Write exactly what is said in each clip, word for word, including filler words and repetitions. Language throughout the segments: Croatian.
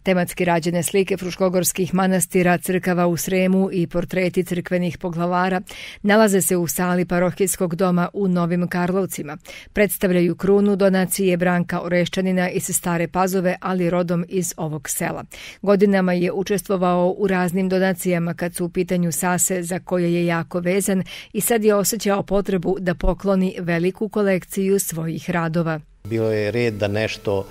Tematski rađene slike fruškogorskih manastira, crkava u Sremu i portreti crkvenih poglavara nalaze se u sali parohijskog doma u Novim Karlovcima. Predstavljaju krunu donacije Branka Oreščanina iz Stare Pazove, ali rodom iz ovog sela. Godinama je učestvovao u raznim donacijama kad su u pitanju sase za koje je jako vezan i sad je osjećao potrebu da pokloni veliku kolekciju svojih radova. Bilo je red da nešto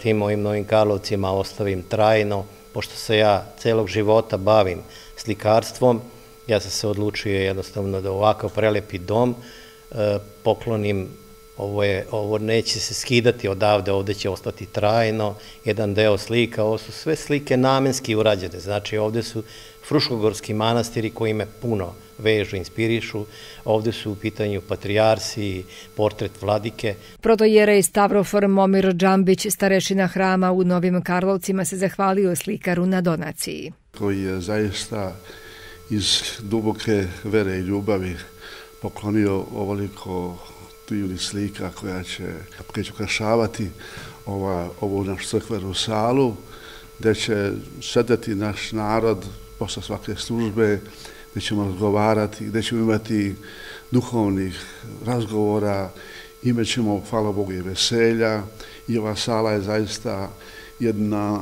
tim mojim Novim Karlovcima ostavim trajno, pošto se ja celog života bavim slikarstvom. Ja sam se odlučio jednostavno da ovakav prelepi dom e, poklonim. Ovo, je, ovo neće se skidati odavde, ovde će ostati trajno. Jedan deo slika, ovo su sve slike namenski urađene. Znači ovde su fruškogorski manastiri koji me puno vežu, inspirišu. Ovde su u pitanju patrijarsi, portret vladike. Protojerej Stavrofor Momir Džambić, starešina hrama u Novim Karlovcima, se zahvalio slikaru na donaciji. Koji je zaista iz duboke vere i ljubavi poklonio ovoliko divnih slika koja će, koja će ukrašavati ova, ovu našu crkvenu salu, gdje će sedeti naš narod posle svake službe, gdje ćemo razgovarati, gdje ćemo imati duhovnih razgovora, imat ćemo, hvala Bogu, i veselja, i ova sala je zaista jedna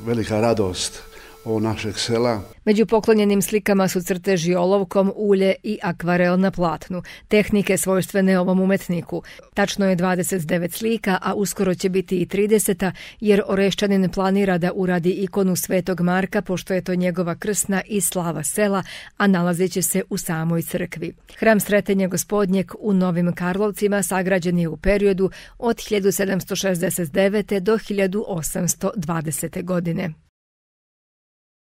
velika radost ovog našeg sela. Među poklonjenim slikama su crteži olovkom, ulje i akvarel na platnu, tehnike svojstvene ovom umetniku. Tačno je dvadeset devet slika, a uskoro će biti i trideseta, jer Oreščanin planira da uradi ikonu Svetog Marka, pošto je to njegova krsna i slava sela, a nalazit će se u samoj crkvi. Hram Sretenja Gospodnjeg u Novim Karlovcima sagrađen je u periodu od hiljadu sedamsto šezdeset devete do hiljadu osamsto dvadesete godine.